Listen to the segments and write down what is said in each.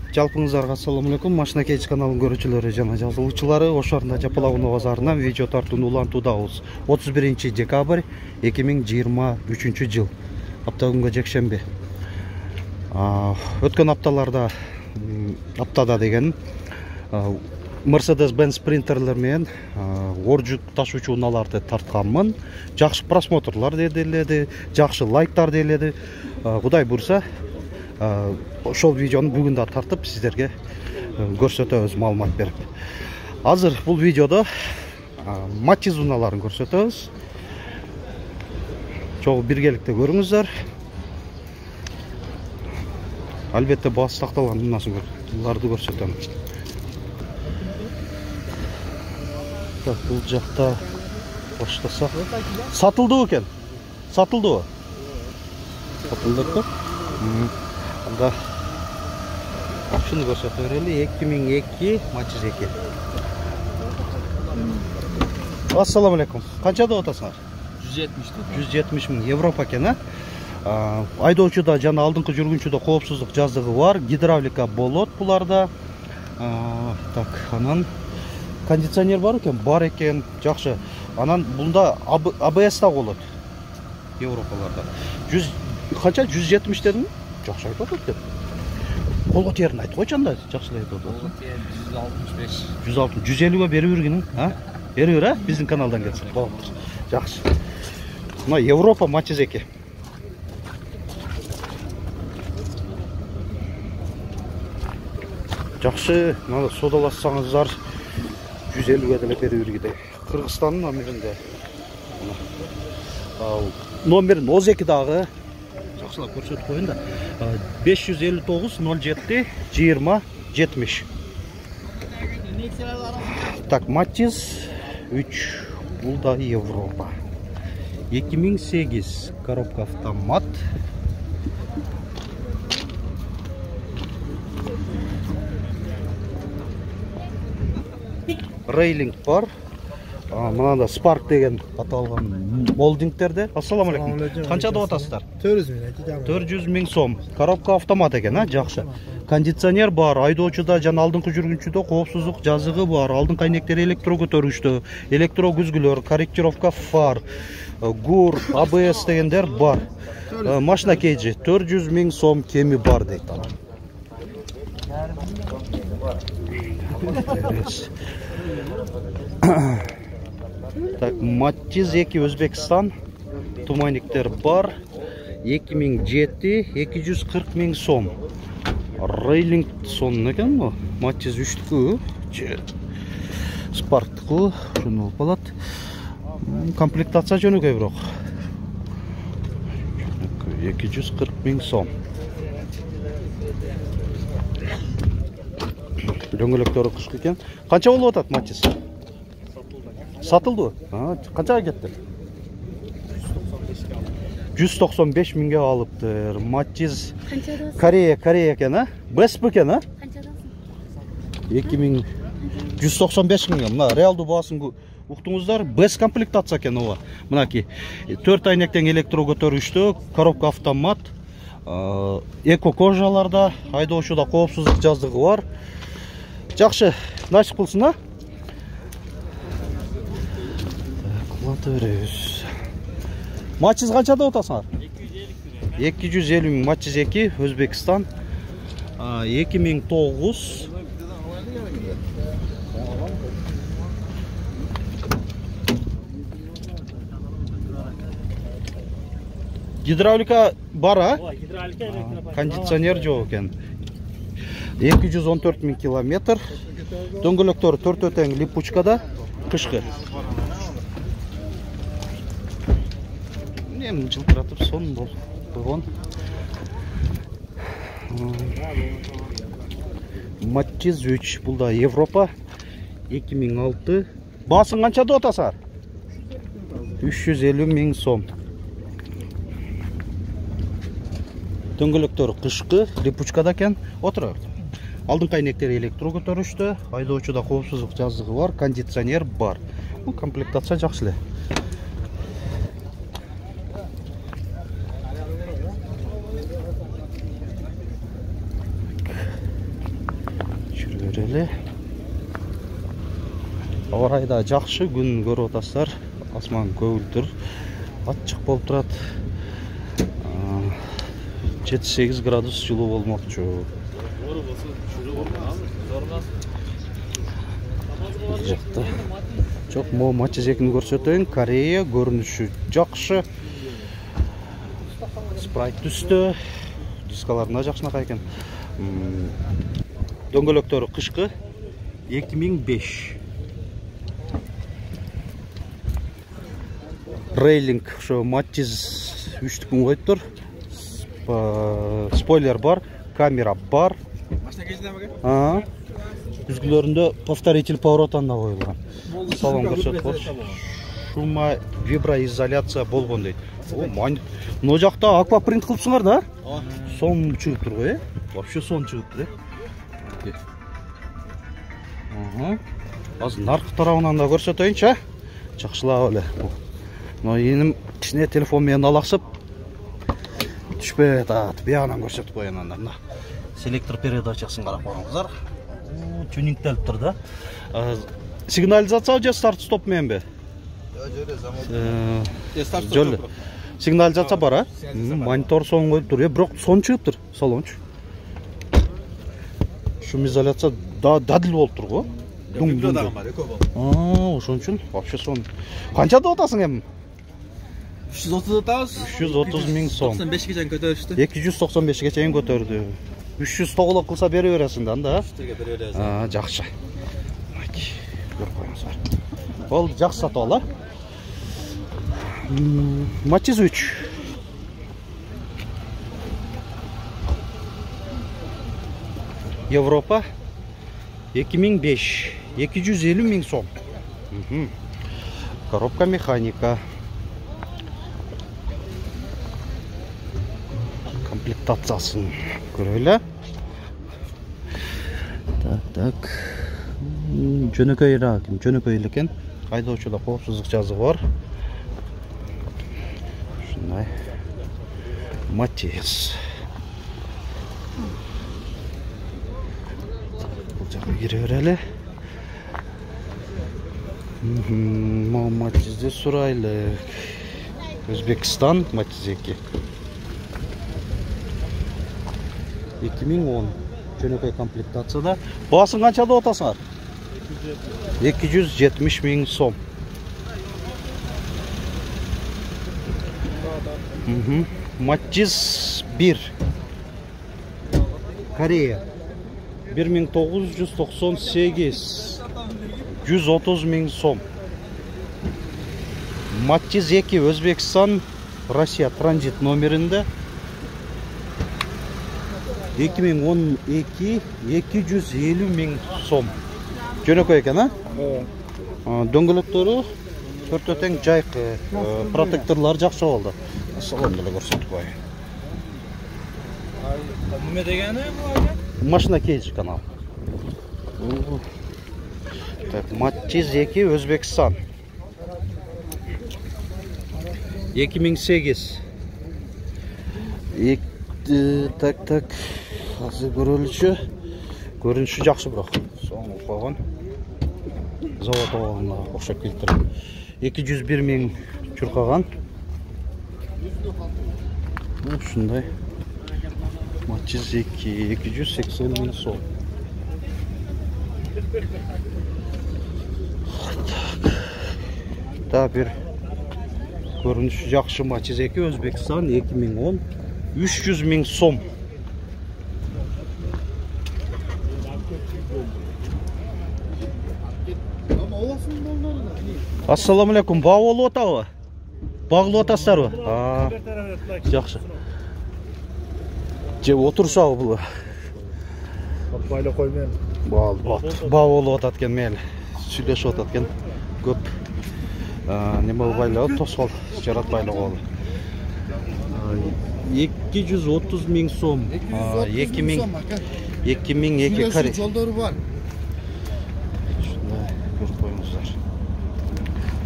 Жалпыңыздарга assalamu alaikum. Машина Кейч каналынын көрүүчүлөрү жана жазылуучулары, ошорунда Жапалауна базарынан видео тартууну улантуудабыз. 31 декабрь 2023 жыл. Апта күнгө жекшемби. Өткөн аптада деген Mercedes-Benz принтерлер менен ор жүк ташуучу унааларды тартканмын. Жакшы просмотрлар деледи, жакшы лайктар деледи. Кудай бурса, ошол видеону бүгүн да тартып сиздерге көрсөтөбүз, маалымат берип. Азыр бул видеодо Matiz унааларын көрсөтөбүз. Чогуу биргеликте көрүңүздөр. Албетте баасы такталган унааларды көрсөтөм. Так, бул жакта баштасак. Сатылдыбы экен? Сатылдыбы? Сатылдыппы? Анда шуну көрсөтө берели. 2002 Matiz 2. Ассаламу алейкум. Канча деп атасыңар? 170 миң Европа экен, айдоочуда жана алдыңкы жүргүнчүдө коопсуздук жазыгы бар, гидравлика болот буларда. Так, анан кондиционер бар экен, жакшы. Анан бунда ABS да болот. Европаларда. Канча 170 дедим? Жакшы айтып атат деп. Колго терин айтып койчу анда, жакшы айтып атат. 165. 150ге берип бергин, Берип бер, биздин каналдан келсе. Болоптур. Жакшы. Мына Европа Matiz 2. Жакшы, мына содалассаңыздар 150ге деле берип бергидей. Кыргызстандын номеринде. Номерин 12 дагы жакшылап көрсөтүп коеюн да. 559 07 20 70. Так, Matiz 3. Бул да Европа. 2008 коробка автомат. Рейлинг бар. Мынада Spark деген аталган молдингтерде. Ассаламу алейкум. Канча деп атасыздар? 400 миң сом. Коробка автомат экен, жакшы. Кондиционер бар, айдоочуда жана алдыңкы жүргүнчүдө коопсуздук жазыгы бар. Алдыңкы айнектери электро көтөрүштү, электро күзгүлөр, корректировка фар, ГУР, ABS дегендер бар. Машина Кейджи 400 миң сом кеми бар дейт. Так, Matiz 2 Өзбекстан, тумайниктер бар. 2007 240 миң сом. Рейлинг сонун экен бу. Matiz 3-түкү, Spark-тыкы, шуну болуп калат. Комплектация жөнөкөй бирок. 240 миң сом. Дөңгөлөктөрү кышкы экен. Канча болуп атат Matiz? Сатылды? Канчага кетти? 195 миңге алыптыр. Matiz Корея экен, Беспи экен, 2195 миң. Мына реалдуу баасын уктуңуздар. Бес комплектация экен ова. Мынаки 4 айнектен электро көтөрүштү, коробка автомат, эко кожаларда, айдоочуда коопсуздук жазыгы бар. Жакшы, начып кылсын, Matiz канча деп атасыңар? 250 миң Matiz 2 Өзбекстан. 2009. Гидравлика бар, Гидравлика, электропакет. Кондиционер жок экен. 214 миң километр. Дөңгөлөктөр 4 тең липучкада, кышкы. Эми жылтыратып сон болуп койгон. Matiz 3, бул да Европа. 2006. Баасын канча деп атасыңар? 350 миң сом. Дөңгөлөктөр кышкы, липучкада экен. Отура. Алдыңкы айнектери электро көтөрүштү, айдоочуда коопсуздук жазыгы бар, кондиционер бар. Бул комплектация жакшы эле. Көрелі. Ауа райы да жакшы, күн көрүп атасыздар. Асман көгүлтүр, ачык болуп турат. 7-8 градус жылуу болмокчу. Бул жакта жок, могу матч экини көрсөтөйүн. Корея көрүнүшү жакшы. Спрайт түстө, дискаларына жакшынакай экен. Дөңгөлөктөрү кышкы 2005. Рейлинг ошо матчиз 3-түкүн коюптур. Спойлер бар, камера бар. Машина кездеме экен? Түзгүлөрүндө повторитель поворотан да коюлган. Салон көрсөтүп. Шума виброизоляция болгон дейт. Мына жакта аквапринт кылыпсыңар да? Сом чыгып тургу, Вообще сон чыгып тур, Азыр наркы тарабынан да көрсөтөйүнчү, жакшылап эле. Но эним кичине телефон менен алаксып түшпөй атат. Биягынан көрсөтүп коеюн анда. Селектор передачасын карап коюңуздар. Тюнингтелиптир да. Сигнализация же старт-стоп мененби? Жок, сигнализация бар, монитор сон коюп тур, бирок сон чыгыптыр салончу. Шумизоляция дадил болуп тургу. Ошон үчүн вообще сон. Канча деп атасың эми? 330 атабыз. 330 миң сом. 95ге чейин көтөрүштү. 295ге чейин көтөрдү. 300 тоглоп кылса бере бересиң да анда. Бере бересиң. Жакшы. Көрүп коюңуздар. Ол жакшы сатып ал, Матчиз 3. Европа 2005. 250 миң сом. Коробка механика. Комплектациясын көрөлү. Так. Жөнөкөйрөөк, жөнөкөй экен. Айдоочуда коопсуздук жазыгы бар. Ушундай. Матчиз. Бул жакка кире берели. Матчизди сурайлы. Өзбекстан матчиз 2. 2010 жөнөкөй комплектацияда. Баасын канча деп атасыңар? 270 миң сом. Матчиз 1. Корея 1998. 130 миң сом. Матчиз 2. Өзбекстан, Россия транзит номеринде. 2012. 250 миң сом. Жөнөкөй экен, Дөңгөлөктөрү төртө тең жайкы, протекторлор жакшы болду. Салон деле көрсөтүп коеюн. Неме дегени бул? Машина кейджи канал. Так, Матчиз 2 Өзбекстан. 2008. Так. Азыр көрөлүчү. Көрүнүшү жакшы бирок. Соң койгон. Завод оолуна окшоп келиптир. 201 миң чуркаган. Ушундай. Матчиз 2 280 миң сом. Да бир көрүнүшү жакшы Матчиз 2 Өзбекстан 2010 300 миң сом. Ассаламу алейкум. Баа болуп атабы? Багылып атасыздарбы? Жакшы. Же отурсабы бул? Байлы кой менен. Баа болуп атат экен, мейли. Сүйлөшүп атат экен. Көп неме байлап, тоскоол жаратпайлы болду. 230 миң сом. 2002 Корея. Жолдору бар. Шундай көрүп коюңуздар.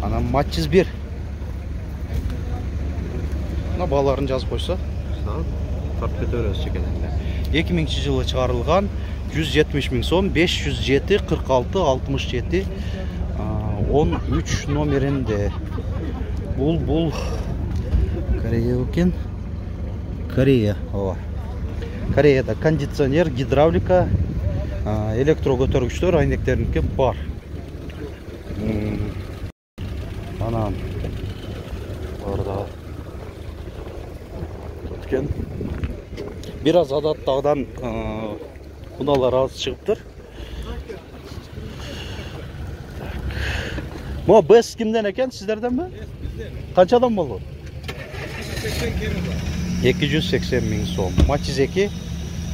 Анан Матчиз 1. Мына бааларын жазып койсо, тартып кете беребиз чекелерде. 2000-жылы чыгарылган 170 миң сом, 507 46 67 13 номеринде. Бул Корея экен. Корея, ооба. Кореяда кондиционер, гидравлика, электро көтөргүчтөр айнектеринки бар. Анан орда өткен. Бир аз адаттагыдан куналар аз чыгыптыр. Мо бес кимден экен, сиздерденби? Канчадан болду? 280 миң сом. Matiz 2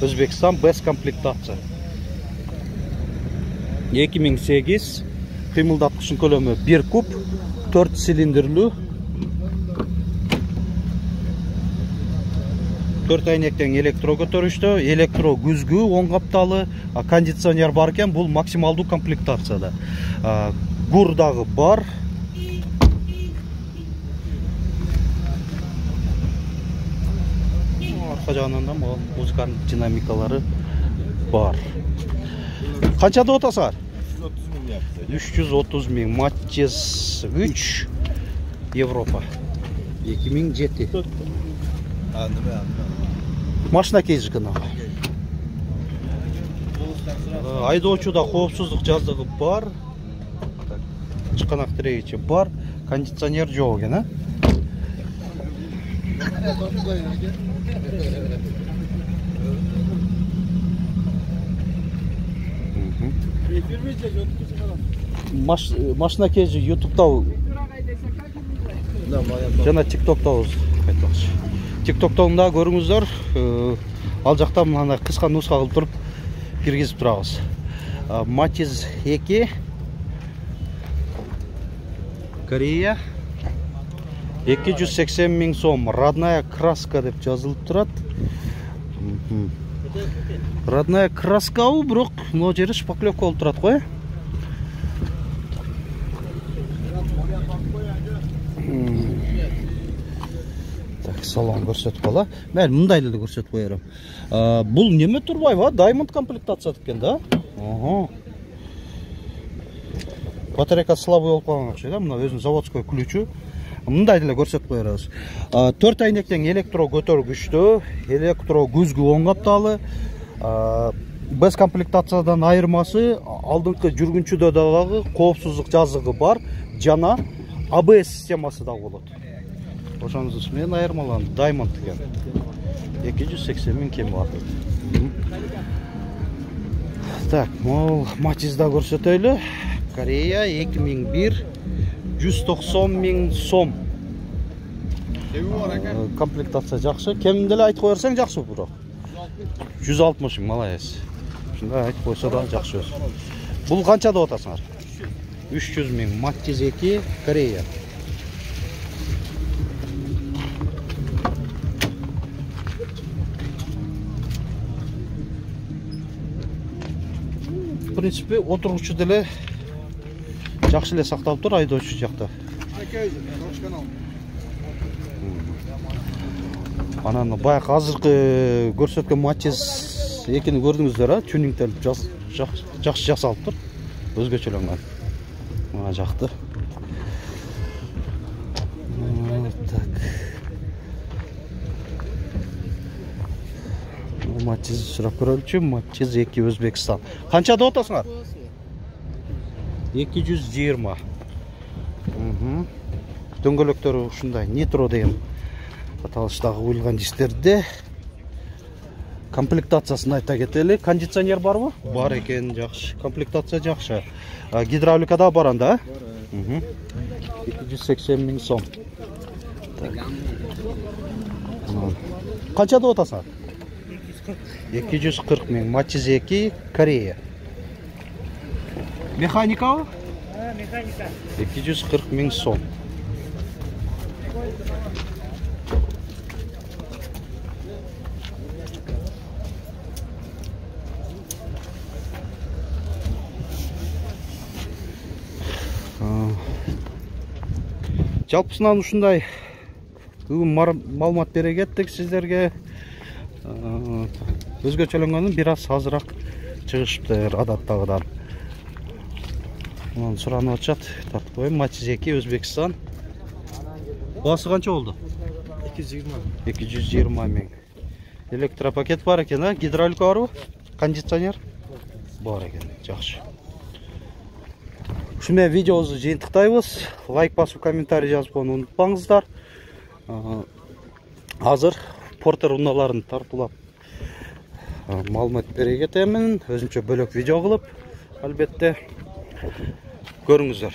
Өзбекстан без комплектация. 2008 кыймылдаткычын көлөмү 1 куб, 4 цилиндрлүү. 4 айнектен электро көтөрүштө, электро күзгү, оң капталы, кондиционер бар экен, бул максималдуу комплектацияда. Гур дагы бар. Арка жагынан да музыканын динамикалары бар. Канча деп атасыңар? 330 миң. Matiz 3 Европа. 2007. Машина кейжи кына. Айдоочуда коопсуздук жаздыгы бар. Чыканак тирегичи бар. Кондиционер жок экен, а? Машина кейжи YouTube'да жана TikTok'та айтмакчы. TikTok'та да көрүңүздөр. Ал жакта мына кыска нуска кылып туруп киргизип турабыз. Matiz 2 Корея 280 миң сом. Родная краска деп жазылып турат. Родная краска, бирок мына жери шпаклевка болуп турат го. Так, салон көрсөтүп кала. Мен мындай эле көрсөтүп коерм. Бул неме турбайбы? Diamond комплектация экен да? Батарейка слабый болуп калган окшойт, да? Мына өзүнүн заводской ключу. Мындай деле көрсөтүп коербыз. 4 айнектен электро көтөргүчтө, электро күзгү оң капталы. Без комплектациядан айырмасы алдыңкы жүргүнчүдө дагы коопсуздук жазыгы бар жана ABS системасы да болот. Ошоңуз менен айырмаланды. Diamond экен. 280 миң кем бар. Так, мол Matiz'да көрсөтөйлү. Корея 2001 190 миң сом. Комплектация жакшы. Кем деле айтып коерсең жакшы бирок. 160 миң, молодец. Ушундай айтып койсо да жакшы өз. Бул канча деп атасыңар? 300 миң. Matiz 2 Корея. В принципе, отургучу деле жакшы эле сакталып тур, айдоочу жакта. Анан баягы азыркы көрсөткөн Matiz 2-ни көрдүңүздөр, а? Тюнингтелип жакшы жасалып тур. Өзгөчөлөнгөн. Мына жакты. Так. Matiz сурап көрөлүчү. Matiz 2 Өзбекстан. Канча деп атасыңар? 220. Дөңгөлөктөрү ушундай Nitro деген аталыштагы куюлган дистерде. Комплектациясын айта кетели. Кондиционер барбы? Бар экен, жакшы. Комплектация жакшы. Гидравлика да бар анда, а? 280 миң сом. Канча деп атасыңар? 240 миң. Matiz 2 Корея. Механикабы? Механика. 240 миң сом. Жалпысынан ушундай маалымат бере кеттик сиздерге. Өзгөчөлөнгөнүн бир аз азыраак чыгышыптыр адаттагыдан. Мынаны суранып атышат. Тартып коеюн. Мачизеки, Өзбекстан. Басы канча болду? 220 миң. Электропакет бар экен, а? Гидравлика барбы? Кондиционер? Бар экен. Жакшы. Ушу менен видеобузду жыйынтыктайбыз. Лайк басып, комментарий жазып койууну унутпаңыздар. Азыр портер унааларын тартуулап маалымат бере кетемин. Өзүнчө бөлөк видео кылып, албетте көрүңүздөр.